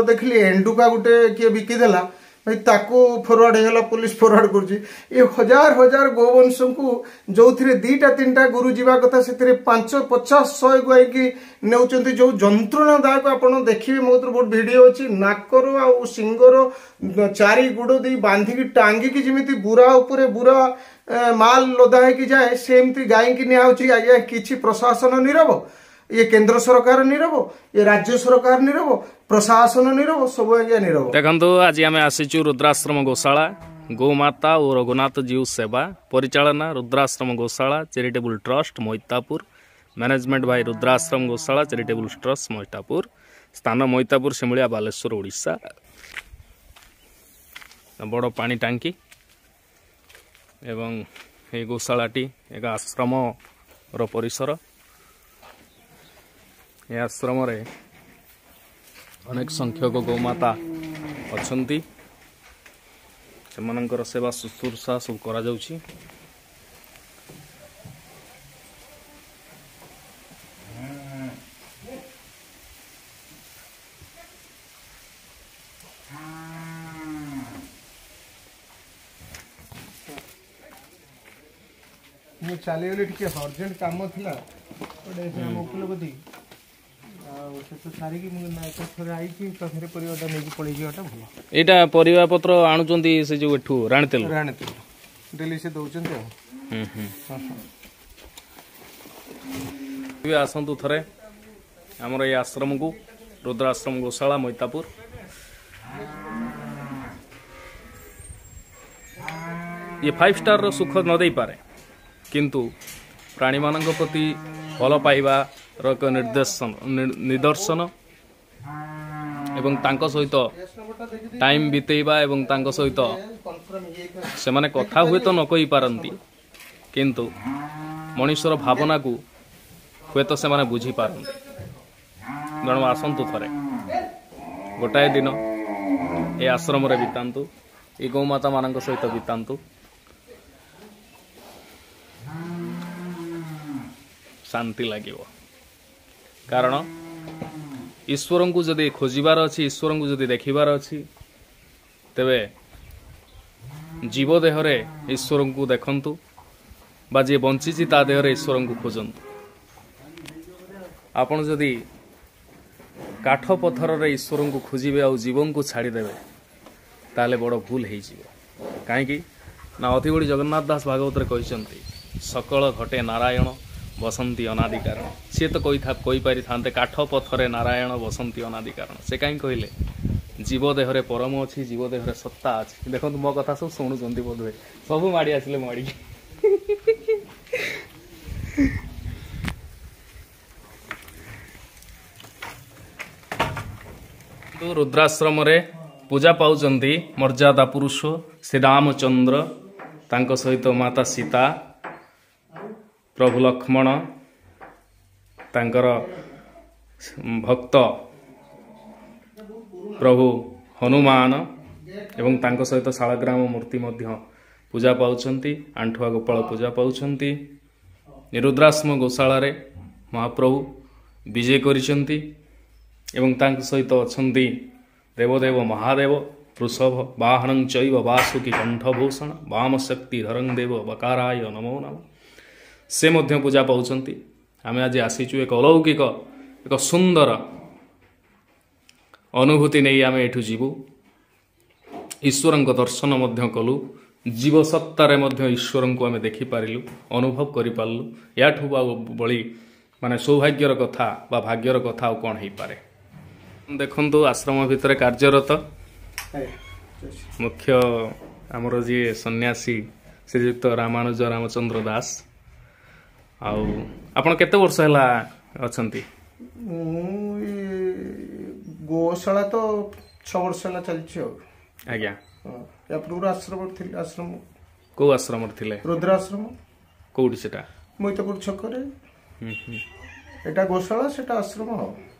ଦେଖିଲି ଏଣ୍ଡୁକା ଗୋଟେ କିଏ ବିକିଦେଲା ଭାଇ, ତାକୁ ଫରୱାର୍ଡ ହେଇଗଲା, ପୋଲିସ ଫରୱାର୍ଡ କରୁଛି। ଏ ହଜାର ହଜାର ଗୋବଂଶଙ୍କୁ ଯୋଉଥିରେ 2ଟା 3ଟା ଗୁରୁ ଯିବା କଥା, ସେଥିରେ 5, 50, 100 ଗାଇକି ନେଉଛନ୍ତି। ଯୋଉ ଯନ୍ତ୍ରଣାଦାୟକ, ଆପଣ ଦେଖିବେ ମୋ ବହୁତ ଭିଡିଓ ଅଛି, ନାକର ଆଉ ସିଙ୍ଗର 4 ଗୋଡ଼ ଦେଇ ବାନ୍ଧିକି ଟାଙ୍ଗିକି ଯେମିତି ବୁରା ଉପରେ ବୁରା ମାଲ ଲଦା ହେଇକି ଯାଏ, ସେମିତି ଗାଇକି ନିଆହଉଛି ଆଜ୍ଞା। କିଛି ପ୍ରଶାସନ ନିରବ, ଇଏ କେନ୍ଦ୍ର ସରକାର ନିରବ, ଇଏ ରାଜ୍ୟ ସରକାର ନିରବ, ପ୍ରଶାସନ ନିରବ, ସବୁ ଆଜ୍ଞା ନିରବ। ଦେଖନ୍ତୁ, ଆଜି ଆମେ ଆସିଛୁ ରୁଦ୍ରାଶ୍ରମ ଗୋଶାଳା, ଗୋମାତା ଓ ରଘୁନାଥ ଜୀଉ ସେବା, ପରିଚାଳନା Rudrashram Goshala charitable trust Maitapur, management by Rudrashram Goshala charitable trust Maitapur, ସ୍ଥାନ ମଇତାପୁର, ଶିମୁଳିଆ, ବାଲେଶ୍ୱର, ଓଡ଼ିଶା। ବଡ଼ ପାଣି ଟାଙ୍କି ଏବଂ ଏହି ଗୋଶାଳାଟି ଏକ ଆଶ୍ରମର ପରିସର। ଏ ଆଶ୍ରମରେ ଅନେକ ସଂଖ୍ୟକ ଗୋମାତା ଅଛନ୍ତି, ସେମାନଙ୍କର ସେବା ଶୁଶ୍ରୂଷା ସବୁ କରାଯାଉଛି। ମୁଁ ଚାଲିଗଲି, ଟିକେ ଅର୍ଜେଣ୍ଟ କାମ ଥିଲା ଗୋଟେ ଆମ ଓକିଲ, ଆଉ ସେଠୁ ସାରିକି ମୁଁ ଏକାଥରେ ଆଇଛି। ଏକାଥରେ ପରିବାଟା ନେଇକି ପଳେଇ ଯିବାଟା ଭଲ। ଏଇଟା ପରିବା ପତ୍ର ଆଣୁଛନ୍ତି ସେ ଯୋଉ ଏଠୁ ରାଣୀତେଲ? ରାଣୀତେଲ ଡେଲି ସେ ଦଉଛନ୍ତି। ଆଉ ଆସନ୍ତୁ ଥରେ ଆମର ଏଇ ଆଶ୍ରମକୁ, ରୁଦ୍ରାଶ୍ରମ ଗୋଶାଳା ମଇତାପୁର। ଇଏ 5 ଷ୍ଟାରର ସୁଖ ନ ଦେଇପାରେ, କିନ୍ତୁ ପ୍ରାଣୀମାନଙ୍କ ପ୍ରତି ଭଲ ପାଇବାର ଏକ ନିର୍ଦ୍ଦେଶନ ନିଦର୍ଶନ ଏବଂ ତାଙ୍କ ସହିତ ଟାଇମ୍ ବିତେଇବା ଏବଂ ତାଙ୍କ ସହିତ ସେମାନେ କଥା ହୁଏତ ନ କହିପାରନ୍ତି, କିନ୍ତୁ ମଣିଷର ଭାବନାକୁ ହୁଏତ ସେମାନେ ବୁଝିପାରନ୍ତି। ତେଣୁ ଆସନ୍ତୁ ଥରେ ଗୋଟାଏ ଦିନ ଏ ଆଶ୍ରମରେ ବିତାନ୍ତୁ, ଏ ଗୋମାତାମାନଙ୍କ ସହିତ ବିତାନ୍ତୁ, ଶାନ୍ତି ଲାଗିବ। କାରଣ ଈଶ୍ୱରଙ୍କୁ ଯଦି ଖୋଜିବାର ଅଛି, ଈଶ୍ୱରଙ୍କୁ ଯଦି ଦେଖିବାର ଅଛି, ତେବେ ଜୀବ ଦେହରେ ଈଶ୍ୱରଙ୍କୁ ଦେଖନ୍ତୁ ବା ଯିଏ ବଞ୍ଚିଛି ତା ଦେହରେ ଈଶ୍ୱରଙ୍କୁ ଖୋଜନ୍ତୁ। ଆପଣ ଯଦି କାଠ ପଥରରେ ଈଶ୍ୱରଙ୍କୁ ଖୋଜିବେ ଆଉ ଜୀବଙ୍କୁ ଛାଡ଼ିଦେବେ, ତାହେଲେ ବଡ଼ ଭୁଲ ହେଇଯିବ। କାହିଁକି ନା ଅଧିବଡ଼ି ଜଗନ୍ନାଥ ଦାସ ଭାଗବତରେ କହିଛନ୍ତି, ସକଳ ଘଟେ ନାରାୟଣ ବସନ୍ତି ଅନାଦି କାରଣ। ସିଏ ତ କହିପାରିଥାନ୍ତେ କାଠ ପଥରେ ନାରାୟଣ ବସନ୍ତି ଅନାଦି କାରଣ, ସେ କାହିଁ କହିଲେ ଜୀବ ଦେହରେ ପରମ ଅଛି, ଜୀବ ଦେହରେ ସତ୍ତା ଅଛି। ଦେଖନ୍ତୁ, ମୋ କଥା ସବୁ ଶୁଣୁଛନ୍ତି ବୋଧହୁଏ, ସବୁ ମାଡ଼ି ଆସିଲେ ମାଡ଼ିକି। ରୁଦ୍ରାଶ୍ରମରେ ପୂଜା ପାଉଛନ୍ତି ମର୍ଯ୍ୟାଦା ପୁରୁଷ ଶ୍ରୀରାମଚନ୍ଦ୍ର, ତାଙ୍କ ସହିତ ମାତା ସୀତା, ପ୍ରଭୁ ଲକ୍ଷ୍ମଣ, ତାଙ୍କର ଭକ୍ତ ପ୍ରଭୁ ହନୁମାନ ଏବଂ ତାଙ୍କ ସହିତ ଶାଳଗ୍ରାମ ମୂର୍ତ୍ତି ମଧ୍ୟ ପୂଜା ପାଉଛନ୍ତି, ଆଣ୍ଠୁଆ ଗୋପାଳ ପୂଜା ପାଉଛନ୍ତି। ରୁଦ୍ରାଶ୍ରମ ଗୋଶାଳାରେ ମହାପ୍ରଭୁ ବିଜେ କରିଛନ୍ତି ଏବଂ ତାଙ୍କ ସହିତ ଅଛନ୍ତି ଦେବଦେବ ମହାଦେବ। ବୃଷଭ ବାହନଂ ଚୈବ ବାସୁକି କଣ୍ଠଭୂଷଣ ବାମଶକ୍ତି ଧରଂ ଦେବ ବକାରାୟ ନମୋ ନମ, ସେ ମଧ୍ୟ ପୂଜା ପାଉଛନ୍ତି। ଆମେ ଆଜି ଆସିଛୁ ଏକ ଅଲୌକିକ, ଏକ ସୁନ୍ଦର ଅନୁଭୂତି ନେଇ ଆମେ ଏଠୁ ଯିବୁ। ଈଶ୍ୱରଙ୍କ ଦର୍ଶନ ମଧ୍ୟ କଲୁ, ଜୀବସତ୍ତାରେ ମଧ୍ୟ ଈଶ୍ୱରଙ୍କୁ ଆମେ ଦେଖିପାରିଲୁ, ଅନୁଭବ କରିପାରିଲୁ। ୟାଠୁ ଆଉ ବଳି ମାନେ ସୌଭାଗ୍ୟର କଥା ବା ଭାଗ୍ୟର କଥା ଆଉ କ'ଣ ହେଇପାରେ? ଦେଖନ୍ତୁ, ଆଶ୍ରମ ଭିତରେ କାର୍ଯ୍ୟରତ ମୁଖ୍ୟ ଆମର ଯିଏ ସନ୍ନ୍ୟାସୀ ଶ୍ରୀଯୁକ୍ତ ରାମାନୁଜ ରାମଚନ୍ଦ୍ର ଦାସ। ଆଉ ଆପଣ କେତେ ବର୍ଷ ହେଲା ଅଛନ୍ତି? ମୁଁ ଗୋଶାଳା ତ 6 ବର୍ଷ ହେଲା ଚାଲିଛି ଆଉ। ଆଜ୍ଞା। ୟା ପୂର୍ବରୁ ଆଶ୍ରମରେ ଥିଲି। ଆଶ୍ରମ କୋଉ ଆଶ୍ରମରେ ଥିଲେ? ରୁଦ୍ରାଶ୍ରମ। କୋଉଠି ସେଟା? ମଇତାପୁର ଛକରେ। ଏଟା ଗୋଶାଳା, ସେଟା ଆଶ୍ରମ ଆଉ।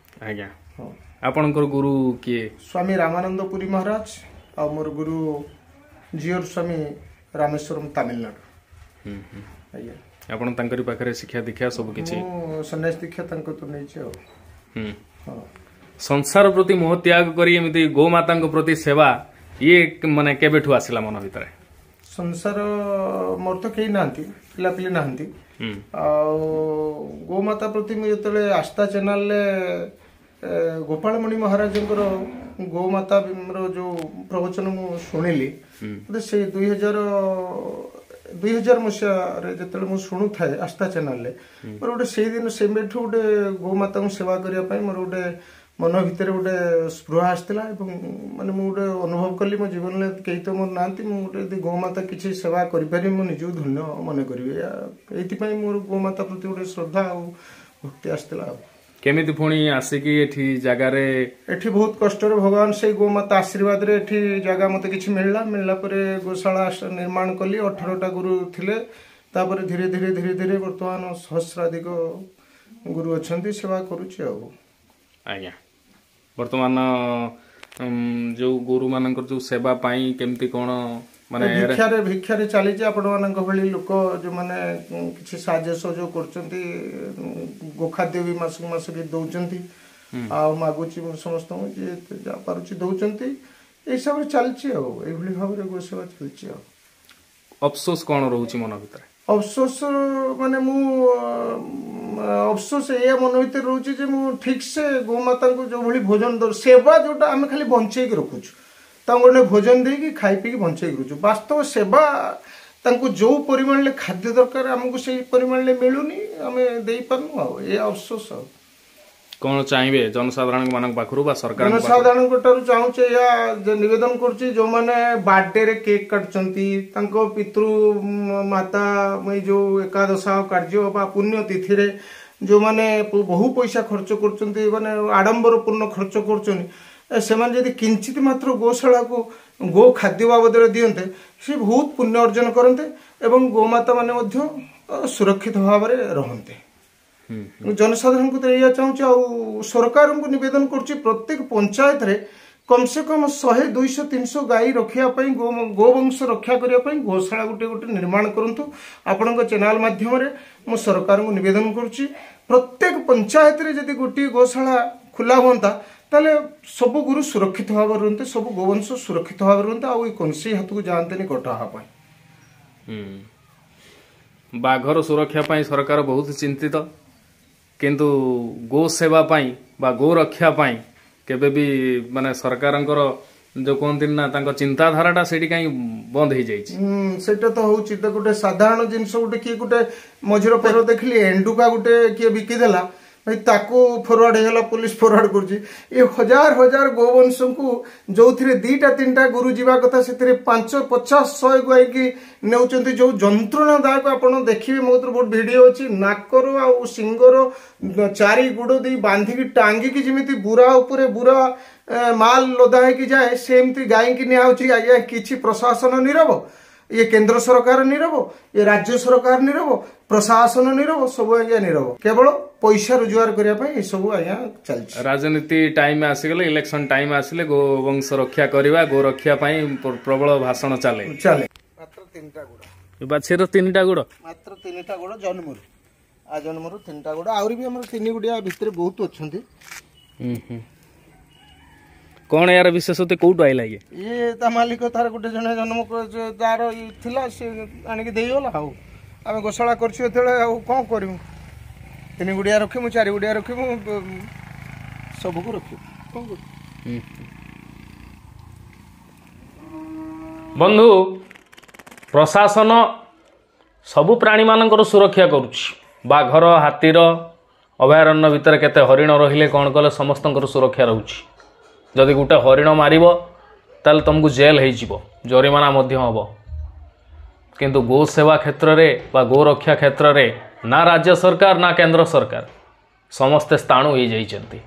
ଆଜ୍ଞା। ହଁ, ଆପଣଙ୍କର ଗୁରୁ କିଏ? ସ୍ୱାମୀ ରାମାନନ୍ଦ ପୁରୀ ମହାରାଜ, ଆଉ ମୋର ଗୁରୁ ଜିଓର ସ୍ୱାମୀ ରାମେଶ୍ୱରମ, ତାମିଲନାଡୁ। ଆଜ୍ଞା। ଆପଣ ତାଙ୍କରି ପାଖରେ ଶିକ୍ଷା ଦୀକ୍ଷା ସବୁ କିଛି? ମୁଁ ସନ୍ନ୍ୟାସ ଦୀକ୍ଷା ତାଙ୍କ ତୁ ନେଇଛି ଆଉ। ହଁ। ସଂସାର ପ୍ରତି ମୋହ ତ୍ୟାଗ କରି ଏମିତି ଗୋମାତାଙ୍କ ପ୍ରତି ସେବା, ଇଏ ମାନେ କେବେଠୁ ଆସିଲା ମନ ଭିତରେ? ସଂସାର ମୋର ତ କେହି ନାହାନ୍ତି, ପିଲାପିଲି ନାହାନ୍ତି। ଆଉ ଗୋମାତା ପ୍ରତି ମୁଁ ଯେତେବେଳେ ଆସ୍ଥା ଚ୍ୟାନେଲରେ ଗୋପାଳମଣି ମହାରାଜଙ୍କର ଗୋମାତାର ଯୋଉ ପ୍ରବଚନ ମୁଁ ଶୁଣିଲି, ମୋତେ ସେଇ 2000 ମସିହାରେ ଯେତେବେଳେ ମୁଁ ଶୁଣୁଥାଏ ଆସ୍ଥା ଚ୍ୟାନେଲରେ, ମୋର ଗୋଟେ ସେଇଦିନ ସେବେଠୁ ଗୋଟେ ଗୋମାତାଙ୍କୁ ସେବା କରିବା ପାଇଁ ମୋର ଗୋଟେ ମନ ଭିତରେ ଗୋଟେ ସ୍ପୃହା ଆସିଥିଲା। ଏବଂ ମାନେ ମୁଁ ଗୋଟେ ଅନୁଭବ କଲି ମୋ ଜୀବନରେ କେହି ତ ମୋର ନାହାନ୍ତି, ମୁଁ ଗୋଟେ ଯଦି ଗୋମାତା କିଛି ସେବା କରିପାରିବି ମୁଁ ନିଜକୁ ଧନ୍ୟ ମନେ କରିବି। ଏଇଥିପାଇଁ ମୋର ଗୋମାତା ପ୍ରତି ଗୋଟେ ଶ୍ରଦ୍ଧା ଆଉ ଭକ୍ତି ଆସିଥିଲା। ଆଉ କେମିତି ପୁଣି ଆସିକି ଏଠି ଜାଗାରେ? ଏଠି ବହୁତ କଷ୍ଟରେ ଭଗବାନ ସେଇ ଗୋମାତା ଆଶୀର୍ବାଦରେ ଏଠି ଜାଗା ମତେ କିଛି ମିଳିଲା। ମିଳିଲା ପରେ ଗୋଶାଳା ନିର୍ମାଣ କଲି। 18ଟା ଗୁରୁ ଥିଲେ, ତାପରେ ଧୀରେ ଧୀରେ ଧୀରେ ଧୀରେ ବର୍ତ୍ତମାନ ସହସ୍ରାଧିକ ଗୁରୁ ଅଛନ୍ତି, ସେବା କରୁଛି ଆଉ। ଆଜ୍ଞା, ବର୍ତ୍ତମାନ ଯୋଉ ଗୋରୁମାନଙ୍କର ଯୋଉ ସେବା ପାଇଁ କେମିତି କଣ ମାନେ? ଭିକ୍ଷାରେ ଚାଲିଛି। ଆପଣମାନଙ୍କ ଭଳି ଲୋକ ଯୋଉମାନେ କିଛି ସାହାଯ୍ୟ ସହଯୋଗ କରୁଛନ୍ତି, ଗୋଖାଦ୍ୟ ବି ମାସକୁ ମାସ ବି ଦଉଛନ୍ତି, ଆଉ ମାଗୁଛି ମୁଁ ସମସ୍ତଙ୍କୁ, ଯିଏ ଯାହା ପାରୁଛି ଦଉଛନ୍ତି। ଏଇ ହିସାବରେ ଚାଲିଛି ଆଉ, ଏଇଭଳି ଭାବରେ ଗୋସେବା ଚାଲିଛି। ଆଉ ଅଫସୋସ କଣ ରହୁଛି ମନ ଭିତରେ? ଅଫସୋସ ମାନେ ମୁଁ ଅଫସୋସ ଏଇଆ ମନ ଭିତରେ ରହୁଛି ଯେ ମୁଁ ଠିକ ସେ ଗୋମାତାଙ୍କୁ ଯୋଉଭଳି ଭୋଜନ ସେବା ଯୋଉଟା ଆମେ ଖାଲି ବଞ୍ଚେଇକି ରଖୁଛୁ, ତାଙ୍କୁ ଗୋଟେ ଭୋଜନ ଦେଇକି ଖାଇ ପିଇକି ବଞ୍ଚେଇକି ରଖୁଛୁ। ବାସ୍ତବ ସେବା ତାଙ୍କୁ ଯୋଉ ପରିମାଣରେ ଖାଦ୍ୟ ଦରକାର ଆମକୁ ସେଇ ପରିମାଣରେ ମିଳୁନି, ଆମେ ଦେଇପାରୁନୁ। ଆଉ ଏ ଅଫସୋସ। ଆଉ କଣ ଚାହିଁବେ ଜନସାଧାରଣ ମାନଙ୍କ ପାଖରୁ ବା ସରକାର? ଜନସାଧାରଣଙ୍କ ଠାରୁ ଚାହୁଁଛେ, ଏହା ନିବେଦନ କରୁଛି, ଯୋଉମାନେ ବାର୍ଥଡେରେ କେକ୍ କାଟୁଛନ୍ତି, ତାଙ୍କ ପିତୃ ମାତା ଏଇ ଯୋଉ ଏକାଦଶାହ କାର୍ଯ୍ୟ ବା ପୁଣ୍ୟ ତିଥିରେ ଯୋଉମାନେ ବହୁ ପଇସା ଖର୍ଚ୍ଚ କରୁଛନ୍ତି, ମାନେ ଆଡମ୍ବରପୂର୍ଣ୍ଣ ଖର୍ଚ୍ଚ କରୁଛନ୍ତି, ସେମାନେ ଯଦି କିଞ୍ଚିତ ମାତ୍ର ଗୋଶାଳାକୁ ଗୋ ଖାଦ୍ୟ ବାବଦରେ ଦିଅନ୍ତେ, ସେ ବହୁତ ପୁଣ୍ୟ ଅର୍ଜନ କରନ୍ତେ ଏବଂ ଗୋମାତା ମାନେ ମଧ୍ୟ ସୁରକ୍ଷିତ ଭାବରେ ରହନ୍ତେ। ଜନସାଧାରଣଙ୍କୁ ତ ଏଇଆ ଚାହୁଁଛି। ଆଉ ସରକାରଙ୍କୁ ନିବେଦନ କରୁଛି, ପ୍ରତ୍ୟେକ ପଞ୍ଚାୟତରେ କମ ସେ କମ 100, 200, 300 ଗାଈ ରଖିବା ପାଇଁ, ଗୋବଂଶ ରକ୍ଷା କରିବା ପାଇଁ ଗୋଶାଳା ଗୋଟେ ଗୋଟେ ନିର୍ମାଣ କରନ୍ତୁ। ଆପଣଙ୍କ ଚ୍ୟାନେଲ ମାଧ୍ୟମରେ ମୁଁ ସରକାରଙ୍କୁ ନିବେଦନ କରୁଛି, ପ୍ରତ୍ୟେକ ପଞ୍ଚାୟତରେ ଯଦି ଗୋଟିଏ ଗୋଶାଳା ଖୋଲା ହୁଅନ୍ତା, ତାହେଲେ ସବୁ ଗୁରୁ ସୁରକ୍ଷିତ ଭାବରେ ରୁହନ୍ତେ, ସବୁ ଗୋବଂଶ ସୁରକ୍ଷିତ ଭାବରେ ରୁହନ୍ତେ, ଆଉ ଏଇ କୌଣସି ହାତକୁ ଯାଆନ୍ତେନି କଟା ହେବା ପାଇଁ। ବାଘର ସୁରକ୍ଷା ପାଇଁ ସରକାର ବହୁତ ଚିନ୍ତିତ, କିନ୍ତୁ ଗୋ ସେବା ପାଇଁ ବା ଗୋ ରକ୍ଷା ପାଇଁ କେବେ ବି ମାନେ ସରକାରଙ୍କର ଯୋଉ କୁହନ୍ତିନି ନା, ତାଙ୍କ ଚିନ୍ତାଧାରାଟା ସେଇଠି କାହିଁ ବନ୍ଦ ହେଇଯାଇଛି। ସେଇଟା ତ ହଉଛି ତ ଗୋଟେ ସାଧାରଣ ଜିନିଷ। ଗୋଟେ କିଏ ଗୋଟେ ମଝିରେ ପେର ଦେଖିଲି ଏଣ୍ଡୁକା ଗୋଟେ କିଏ ବିକିଦେଲା ଭାଇ, ତାକୁ ଫରୱାର୍ଡ ହେଇଗଲା, ପୋଲିସ ଫରୱାର୍ଡ କରୁଛି। ଏ ହଜାର ହଜାର ଗୋବଂଶଙ୍କୁ ଯୋଉଥିରେ 2ଟା 3ଟା ଗୁରୁ ଯିବା କଥା, ସେଥିରେ 5, 50, 100 ଗାଇକି ନେଉଛନ୍ତି। ଯୋଉ ଯନ୍ତ୍ରଣାଦାୟକ, ଆପଣ ଦେଖିବେ ମୋ ବହୁତ ଭିଡିଓ ଅଛି, ନାକର ଆଉ ସିଙ୍ଗର 4 ଗୋଡ଼ ଦେଇ ବାନ୍ଧିକି ଟାଙ୍ଗିକି ଯେମିତି ବୁରା ଉପରେ ବୁରା ମାଲ ଲଦା ହେଇକି ଯାଏ, ସେମିତି ଗାଇକି ନିଆହଉଛି। ଆଜ୍ଞା, କିଛି ପ୍ରଶାସନ ନିରବ, ଇଏ କେନ୍ଦ୍ର ସରକାର ନିରବ, ଇଏ ରାଜ୍ୟ ସରକାର ନିରବ, ପ୍ରଶାସନ ନିରବ, ସବୁ ଆଜ୍ଞା ନିରବ। କେବଳ ପଇସା ରୋଜଗାର କରିବା ପାଇଁ ଏସବୁ ଆଜ୍ଞା ଚାଲିଛି। ରାଜନୀତି ଟାଇମ ଆସିଗଲେ, ଇଲେକ୍ସନ ଟାଇମ ଆସିଲେ ଗୋବଂଶ ରକ୍ଷା କରିବା, ଗୋ ରକ୍ଷା ପାଇଁ ପ୍ରବଳ ଭାଷଣ ଚାଲେ। ଚାଲେ। ମାତ୍ର 3ଟା ଗୋଡ଼, ବାଛିର 3ଟା ଗୋଡ଼, ମାତ୍ର 3ଟା ଗୋଡ଼ ଜନ୍ମରୁ, ଆ ଜନ୍ମରୁ 3ଟା ଗୋଡ଼। ଆହୁରି ବି ଆମର 3 ଗୋଡ଼ିଆ ଭିତରେ ବହୁତ ଅଛନ୍ତି। କଣ ଏହାର ବିଶେଷତ୍ୱ, କୋଉଠୁ ଆଇଲା ଇଏ? ଇଏ ତା ମାଲିକ ତାର ଗୋଟେ ଜଣେ ଜନ୍ମ ତାର ଥିଲା, ସେ ଆଣିକି ଦେଇଗଲା। ଆଉ ଆମେ ଗୋଶାଳା କରିଛୁ ଯେତେବେଳେ, ଆଉ କଣ କରିବୁ? 3 ଗୁଡ଼ିଆ ରଖିବୁ, 4 ଗୁଡ଼ିଆ ରଖିବୁ, ସବୁକୁ ରଖିବୁ, କଣ କରିବୁ? ବନ୍ଧୁ, ପ୍ରଶାସନ ସବୁ ପ୍ରାଣୀମାନଙ୍କର ସୁରକ୍ଷା କରୁଛି। ବାଘର, ହାତୀର, ଅଭୟାରଣ୍ୟ ଭିତରେ କେତେ ହରିଣ ରହିଲେ କ'ଣ କଲେ ସମସ୍ତଙ୍କର ସୁରକ୍ଷା ରହୁଛି। ଯଦି ଗୋଟେ ହରିଣ ମାରିବ ତାହେଲେ ତୁମକୁ ଜେଲ୍ ହେଇଯିବ, ଜରିମାନା ମଧ୍ୟ ହେବ। କିନ୍ତୁ ଗୋ ସେବା କ୍ଷେତ୍ରରେ ବା ଗୋ ରକ୍ଷା କ୍ଷେତ୍ରରେ ନା ରାଜ୍ୟ ସରକାର ନା କେନ୍ଦ୍ର ସରକାର, ସମସ୍ତେ ସ୍ଥାଣୁ ହେଇଯାଇଛନ୍ତି।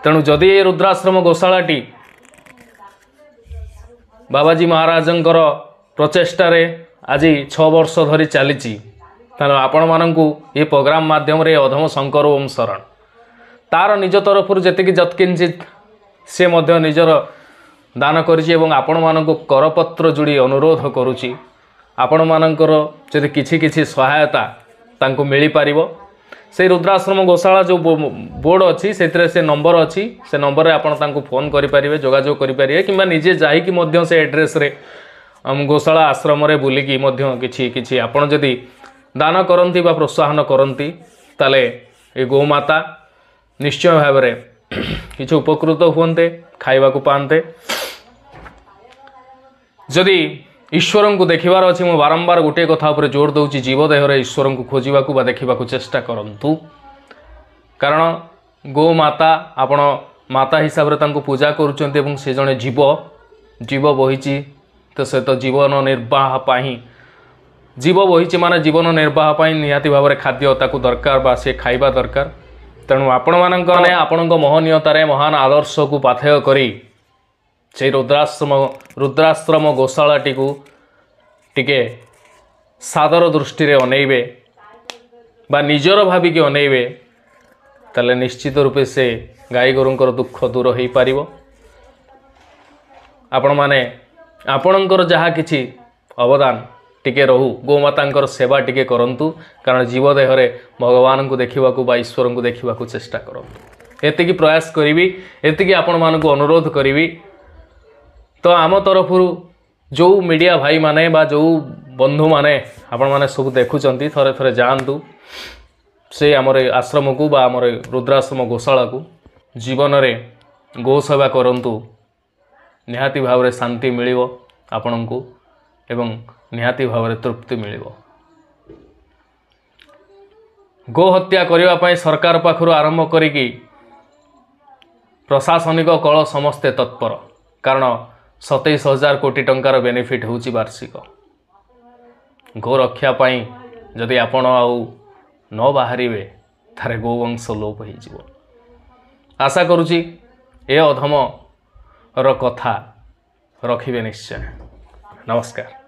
ତେଣୁ ଯଦି ଏ ରୁଦ୍ରାଶ୍ରମ ଗୋଶାଳାଟି ବାବାଜୀ ମହାରାଜଙ୍କର ପ୍ରଚେଷ୍ଟାରେ ଆଜି 6 ବର୍ଷ ଧରି ଚାଲିଛି, ତେଣୁ ଆପଣମାନଙ୍କୁ ଏ ପ୍ରୋଗ୍ରାମ ମାଧ୍ୟମରେ ଅଧମ ଶଙ୍କର ଓମ୍ ଶରଣ ତାର ନିଜ ତରଫରୁ ଯେତିକି ଯତ୍କିଞ୍ଚିତ ସେ ମଧ୍ୟ ନିଜର ଦାନ କରିଛି ଏବଂ ଆପଣମାନଙ୍କୁ କରପତ୍ର ଯୋଡ଼ି ଅନୁରୋଧ କରୁଛି, ଆପଣମାନଙ୍କର ଯଦି କିଛି କିଛି ସହାୟତା ତାଙ୍କୁ ମିଳିପାରିବ, ସେଇ ରୁଦ୍ରାଶ୍ରମ ଗୋଶାଳା ଯେଉଁ ବୋର୍ଡ଼ ଅଛି ସେଥିରେ ସେ ନମ୍ବର ଅଛି, ସେ ନମ୍ବରରେ ଆପଣ ତାଙ୍କୁ ଫୋନ୍ କରିପାରିବେ, ଯୋଗାଯୋଗ କରିପାରିବେ, କିମ୍ବା ନିଜେ ଯାଇକି ମଧ୍ୟ ସେ ଆଡ୍ରେସ୍ରେ ଗୋଶାଳା ଆଶ୍ରମରେ ବୁଲିକି ମଧ୍ୟ କିଛି କିଛି ଆପଣ ଯଦି ଦାନ କରନ୍ତି ବା ପ୍ରୋତ୍ସାହନ କରନ୍ତି, ତାହେଲେ ଏ ଗୋମାତା ନିଶ୍ଚୟ ଭାବରେ କିଛି ଉପକୃତ ହୁଅନ୍ତେ, ଖାଇବାକୁ ପାଆନ୍ତେ। ଯଦି ଈଶ୍ୱରଙ୍କୁ ଦେଖିବାର ଅଛି, ମୁଁ ବାରମ୍ବାର ଗୋଟିଏ କଥା ଉପରେ ଜୋର ଦେଉଛି, ଜୀବ ଦେହରେ ଈଶ୍ୱରଙ୍କୁ ଖୋଜିବାକୁ ବା ଦେଖିବାକୁ ଚେଷ୍ଟା କରନ୍ତୁ। କାରଣ ଗୋମାତା ଆପଣ ମାତା ହିସାବରେ ତାଙ୍କୁ ପୂଜା କରୁଛନ୍ତି ଏବଂ ସେ ଜଣେ ଜୀବ, ଜୀବ ବହିଛି ତ ସେ ତ ଜୀବନ ନିର୍ବାହ ପାଇଁ, ଜୀବ ବହିଛି ମାନେ ଜୀବନ ନିର୍ବାହ ପାଇଁ ନିହାତି ଭାବରେ ଖାଦ୍ୟ ତାକୁ ଦରକାର ବା ସେ ଖାଇବା ଦରକାର। ତେଣୁ ଆପଣମାନଙ୍କ ମାନେ ଆପଣଙ୍କ ମହନୀୟତାରେ ମହାନ ଆଦର୍ଶକୁ ପାଥେୟ କରି ସେଇ ରୁଦ୍ରାଶ୍ରମ ଗୋଶାଳାଟିକୁ ଟିକେ ସାଦର ଦୃଷ୍ଟିରେ ଅନେଇବେ ବା ନିଜର ଭାବିକି ଅନେଇବେ, ତାହେଲେ ନିଶ୍ଚିତ ରୂପେ ସେ ଗାଈ ଗୋରୁଙ୍କର ଦୁଃଖ ଦୂର ହୋଇପାରିବ। ଆପଣମାନେ ଆପଣଙ୍କର ଯାହା କିଛି ଅବଦାନ ଟିକେ ରହୁ, ଗୋମାତାଙ୍କର ସେବା ଟିକେ କରନ୍ତୁ, କାରଣ ଜୀବ ଦେହରେ ଭଗବାନଙ୍କୁ ଦେଖିବାକୁ ବା ଈଶ୍ୱରଙ୍କୁ ଦେଖିବାକୁ ଚେଷ୍ଟା କରନ୍ତୁ। ଏତିକି ପ୍ରୟାସ କରିବି, ଏତିକି ଆପଣମାନଙ୍କୁ ଅନୁରୋଧ କରିବି। ତ ଆମ ତରଫରୁ ଯେଉଁ ମିଡ଼ିଆ ଭାଇମାନେ ବା ଯେଉଁ ବନ୍ଧୁମାନେ ଆପଣମାନେ ସବୁ ଦେଖୁଛନ୍ତି, ଥରେ ଥରେ ଯାଆନ୍ତୁ ସେ ଆମର ଆଶ୍ରମକୁ ବା ଆମର ରୁଦ୍ରାଶ୍ରମ ଗୋଶାଳାକୁ। ଜୀବନରେ ଗୋ ସେବା କରନ୍ତୁ, ନିହାତି ଭାବରେ ଶାନ୍ତି ମିଳିବ ଆପଣଙ୍କୁ ଏବଂ ନିହାତି ଭାବରେ ତୃପ୍ତି ମିଳିବ। ଗୋ ହତ୍ୟା କରିବା ପାଇଁ ସରକାର ପାଖରୁ ଆରମ୍ଭ କରିକି ପ୍ରଶାସନିକ କଳ ସମସ୍ତେ ତତ୍ପର, କାରଣ 27,000 କୋଟି ଟଙ୍କାର ବେନିଫିଟ୍ ହେଉଛି ବାର୍ଷିକ। ଗୋ ରକ୍ଷା ପାଇଁ ଯଦି ଆପଣ ଆଉ ନ ବାହାରିବେ, ତାହେଲେ ଗୋବଂଶ ଲୋପ ହେଇଯିବ। ଆଶା କରୁଛି ଏ ଅଧମର କଥା ରଖିବେ ନିଶ୍ଚୟ। ନମସ୍କାର।